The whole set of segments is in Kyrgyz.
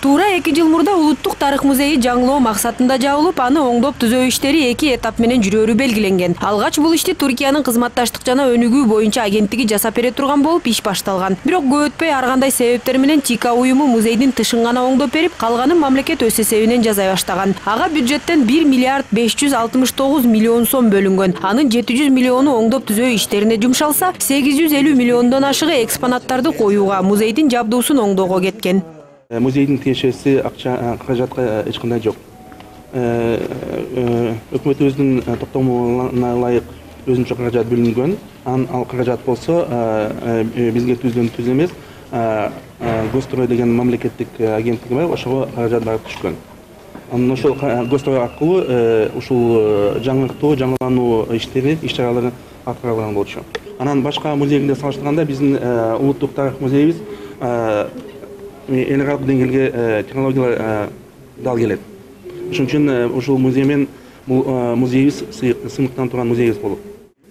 Туура 2 жыл мурда Улуттук тарых музейи жаңылоо максатында жабылып, аны оңдоп түзөө иштери 2 этап менен жүрөөрү белгиленген. Алгач бул ишти Түркиянын кызматташтык жана өнүгүү боюнча агенттиги жасап бере турган болуп иш башталган. Бирок көп өтпөй ар кандай себептер менен ТИКА уюму музейдин тышын гана оңдоп берип, калганын мамлекет өз эсебинен жасай баштаган. Ага бюджеттен 1 миллиард 569 миллион сом бөлүнгөн. Анын 700 миллиону оңдоп түзөө иштерине жумшалса, 850 миллиондон ашыгы экспонаттарды коюуга, музейдин жабдуусун оңдоого кеткен. Музейдин тиешеси акча каражатка эч кандай жок. Өкмөт өзүнүн токтомуна ылайык өзүнчө каражат бөлүнгөн. Ал каражат болсо бизге түз эмес, Гострой деген мамлекеттик агенттиги бар, ошого каражат барып түшкөн. Анан ошол Гострой аркылуу ушул жаңыртуу, жаңылануу иштери, иш-чаралары аткарылган болчу. Анан башка музейге салыштырганда биздин Улуттук тарых музейибиз эл аралык деңгээлге технологиялар дал келет. Ошон үчүн ушул музей менен музейибиз сыймыктанып турган музейибиз болот.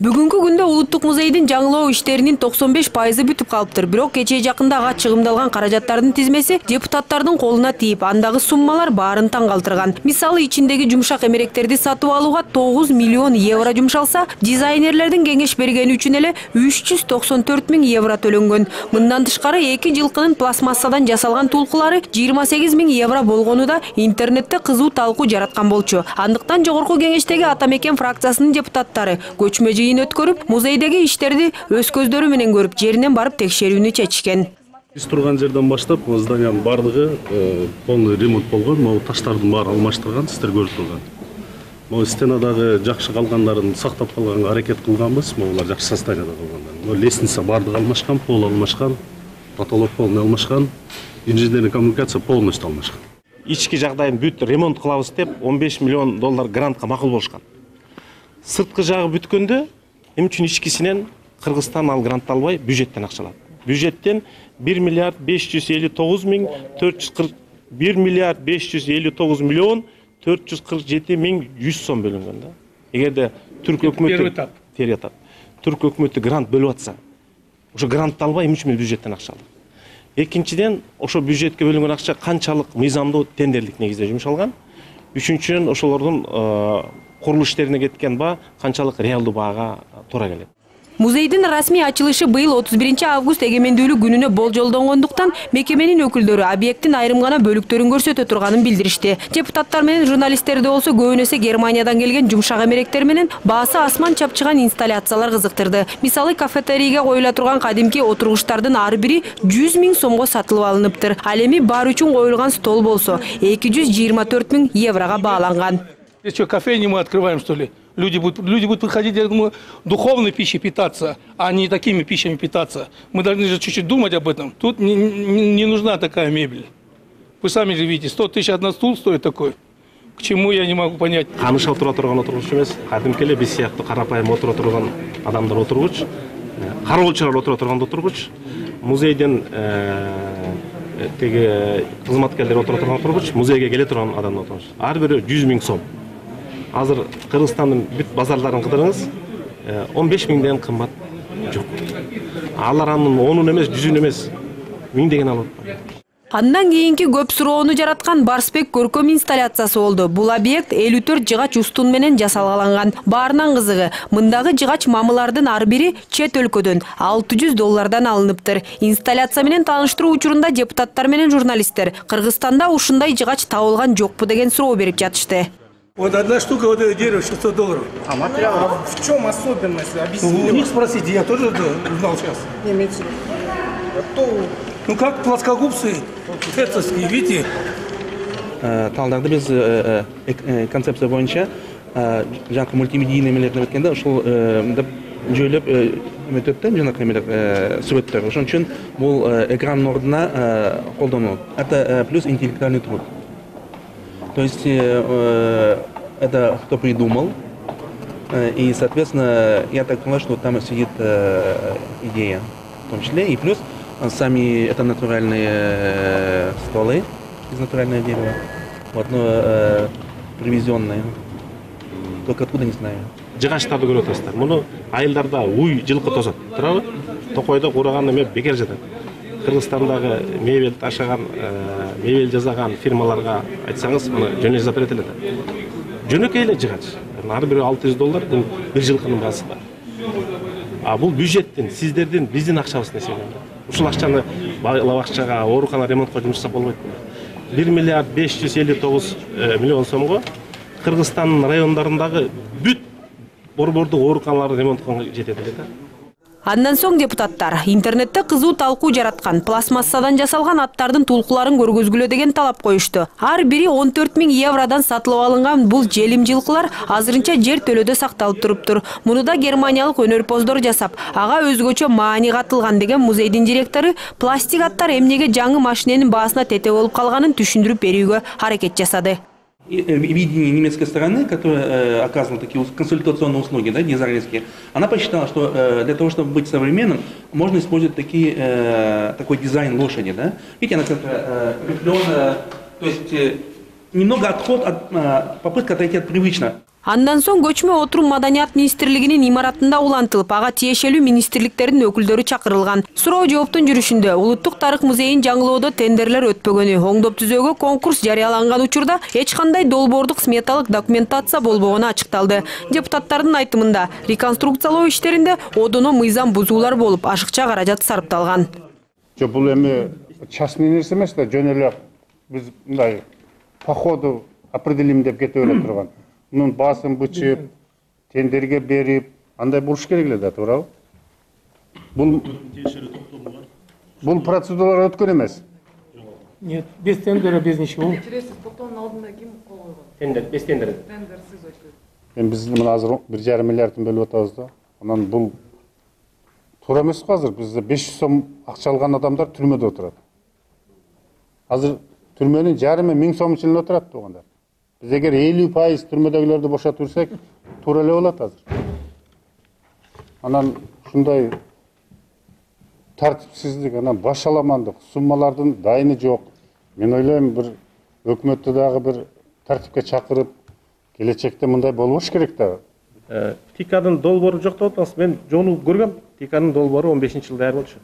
Бүгүнкү күндө Улуттук музейдин жаңылоо иштеринин 95% бүтүп калыптыр. Бирок кечээ жакында ага чыгымдалган каражаттардын тизмеси депутаттардын колуна тийип, андагы суммалар баарын таң калтырган. Мисалы, ичиндеги жумшак эмеректерди сатып алууга 9 миллион евро жумшалса, дизайнерлердин кеңеш бергени үчүн эле 394 000 евро төлөнгөн. Мындан тышкары 2 жылкынын пластмассадан жасалган тулкулары 28 000 евро болгону да интернетте кызуу талкуу жараткан болчу. Андыктан жогорку кеңештеги Ата Мекен фракциясынын депутаттары көчмө өткөрүп, музейдеги иштерди өз көздөрү менен көрүп, жеринен барып текшерүүнү чечишкен. Биз турган жерден баштап зданиянын бардыгы полный ремонт болгон, могу таштардын баары алмаштырган, сиздер көрүп турган. Могу стенадагы жакшы калгандарын сактап калганга аракет кылганбыз, могулар жакшы состоянияда калгандар. Могу лестница бардыгы алмашкан, пол алмашкан, потолок полный алмашкан, инженерный коммуникация полностью алмашкан. Ички жагдайын бүт ремонт кылабыз деп 15 миллион доллар грантка макул болушкан. Сырткы жагы бүткөндө эми үчүн ичкисинен Кыргызстан ал грант албай бюджеттен акча алат. Бюджеттен 1 миллиард 559 миң 1 миллиард 559 миллион 447 миң 100 сом бөлүнгөн да. Эгерде түрк өкмөтү түрк өкмөтү грант бөлүп атса, ошо грантты албай эми үчүн бюджеттен акча алат. Экинчиден, ошо бюджетке бөлүнгөн акча канчалык мыйзамдуу тендерлик негизде жумшалган. Үчүнчүдөн, ошолордун курулуш иштерине кеткен баа канчалык реалдуу баага туура келет. Музейдин расмий ачылышы быйыл 31 август эгемендүүлүк күнүнө болжолдонгондуктан мекеменин өкүлдөрү объекттин айрым гана бөлүктөрүн көрсөтө турганын билдиришти. Депутаттар менен журналисттерди болсо көбүнөсү Германиядан келген жумшак эмеректер менен баасы асман чапчыган инсталляциялар кызыктырды. Мисалы, кафетерийге коюла турган кадимки отургучтардын ар бири 100 000 сомго сатылып алыныптыр. Ал эми бар үчүн коюлган стол болсо 224 000 еврого бааланган. Что, кофейни мы открываем, что ли? Люди будут приходить, я думаю, духовной пищей питаться, а не такими пищами питаться. Мы должны же чуть-чуть думать об этом. Тут не нужна такая мебель. Вы сами же видите, 100 000 один стул стоит такой. К чему, я не могу понять. Камыш отура турган отургуч эмес, кадимки эле биз сыяктуу карапайым отура турган адамдар отургуч, кароолчулар отура турган отургуч, музейден теги кызматкерлер отура турган отургуч, музейге келе турган адамдар отургуч. Ар бири 100 000 сом. Азыр Кыргызстандын бүт базарларын кыдырыңыз, 15 000ден кымбат жок. Алар анын 10-ун эмес, 100-ун эмес, 1000деген алып атпайт. Андан кийинки көп суроону жараткан Барсбек көркөм инсталляциясы болду. Бул объект 54 жыгач устун менен жасалган. Баарынан кызыгы, мындагы жыгач мамылардын ар бири чет өлкөдөн $600 алыныптыр. Инсталляция менен тааныштыруу учурунда депутаттар менен журналисттер Кыргызстанда ушундай жыгач табылган жокпу деген суроо берип жатышты. Вот одна штука вот это дерево $600. А материал в чем особенность? Объясните. У них спросите, я тоже узнал сейчас. Имеется. Ну как плоскогубцы, фетцевские, видите? Талдарды биз концепция боюнча жанакы мультимедийный эмелерди өткөндө ушул жөйлөп өтөт да жанакы эмелер сүрөттөр. Ошон үчүн бул экрандын ордуна колдонулат. Это плюс интеллектуальный труд. То есть это кто придумал, и, соответственно, я так понимаю, что там сидит идея, в том числе, и плюс сами это натуральные стволы из натурального дерева, вот, но привезенные, только откуда не знаю. Жыгачтарды көрүп атасыздар. Муну айылдарда уй жылкы тосот, туурабы? Токойдо кураган эме бекер жатат. Кыргызстандагы мебель ташаган, мебель жасаган фирмаларга айтсаңыз, мына жөнөй запрет эле да. Жөнөкөй эле жыгач. Ар бири $600, бул бир жылкынын баасы бар. А бул бюджеттин, сиздердин, биздин акчабыздан эсептелет. Ушул акчаны бала бакчага, оорукана ремонтко жумшаса болбойт. 1 миллиард 559 миллион сомго Кыргызстандын райондорундагы бүт борбордук ооруканаларды ремонткого жетет эле да. Андан соң депутаттар интернетте кызуу талкуу жараткан пластмассадан жасалган аттардын тулкуларын көргөзгүлө деген талап коюшту. Ар бири 14 000 евродан сатылып алынган бул желим жылкылар азырынча жер төлөдө сакталып туруптур. Муну да германиялык өнөрпоздор жасап, ага өзгөчө маани катылган деген музейдин директору пластик аттар эмнеге жаңы машиненин баасына тете болуп калганын түшүндүрүп берүүгө аракет жасады. Видение немецкой стороны, которая оказывала такие консультационные услуги, да, дизайнерские, она посчитала, что для того, чтобы быть современным, можно использовать такой дизайн лошади. Да? Видите, она как-то рифленая, то есть немного отход от попытка отойти от привычного. Андан соң көчмө отурум маданият министрлигинин имаратында улантылып, ага тиешелүү министрликтердин өкүлдөрү чакырылган. Суроо жооптун жүрүшүндө Улуттук тарых музейин жаңылоодо тендерлер өтпөгөнү, оңдоп түзөөгө конкурс жарыяланган учурда эч кандай долбоордук сметалык документация болбогону ачыкталды. Депутаттардын айтымында реконструкциялоо иштеринде одоно мыйзам бузуулар болуп, ашыкча каражат сарпталган. Бул эми частный нерсе эмес да, жөн эле биз мындай по ходу определим деп кетип эле турган. Мунун баасын бычып, тендерге берип, андай болуш керек эле да, туурабы? Бул процедуралар өткөн эмес. Нет, без тендера, без ничего. Токтоонун алдында ким кол койгон? Тендер, без тендер. Тендерсиз өткөн. Эми биз мына азыр 1,5 миллиардын бөлүп атабыз да. Анан бул туура эмес го азыр. Бизде 500 сом акча алган адамдар түрмөдө отурат. Азыр түрмөнүн жарымы 1000 сом ичинде отурат тугандар. Biz eğer 50% türmödөгүлөрдү бошотурсак, туура эле болот азыр. Анан ушундай тартипсиздик, анан башаламандык, суммалардын дайыны жок. Мен ойлойм, бир өкмөттү дагы бир тартипке чакырып, келечекте мындай болбош керек да. Тикадын долбоору жок деп атпаңыз. Мен жону көргөм. Тикадын долбоору 15-жылы даяр болчу.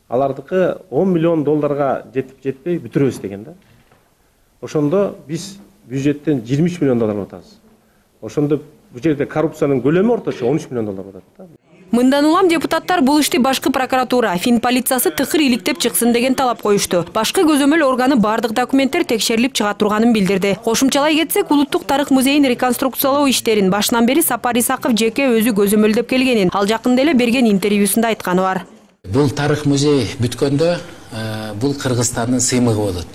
Алардыкы $10 миллион жетип жетпей бүтүрөбүз деген да. Ошондо биз бюджеттен $23 миллион атабыз. Ошондо бул жерде коррупциянын көлөмү орточо $13 миллион атат да. Мындан улам депутаттар бул ишти башкы прокуратура, Фин полициясы тыкыр иликтеп чыксын деген талап коюшту. Башкы көзөмөл органы бардык документтер текшерилип чыга турганын билдирди. Кошумчалай кетсек, Улуттук тарых музейин реконструкциялоо иштерин башынан бери Сапар Исаков жеке өзү көзөмөлдөп келгенин, ал жакында эле берген интервьюсунда айтканы бар. Бул тарых музей бүткөндө бул Кыргызстандын сыймыгы болот.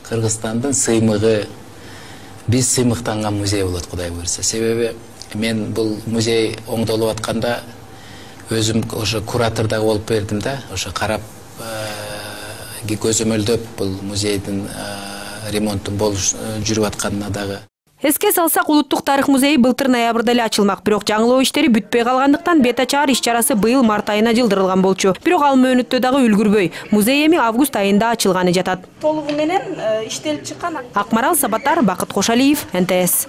Кыргызстандын сыймыгы, биз сыймыктанган музей болот, Кудай буйрса. Себеби мен бул музей оңдолуп атканда өзүм ошо куратордагы болуп бердим да, ошо карап көзөмөлдөп бул музейдин ремонтун жүрүп атканына дагы. Эске салсак, Улуттук тарых музейи былтыр ноябрда эле ачылмак, бирок жаңылоо иштери бүтпөй калгандыктан бет ачаар иш-чарасы быйыл март айына жылдырылган болчу. Бирок ал мөөнөттө дагы үлгүрбөй. Музей эми август айында ачылганы жатат. Толугу менен иштелип чыккан. Акмарал Сабатар, Бакыт Кошалиев, НТС.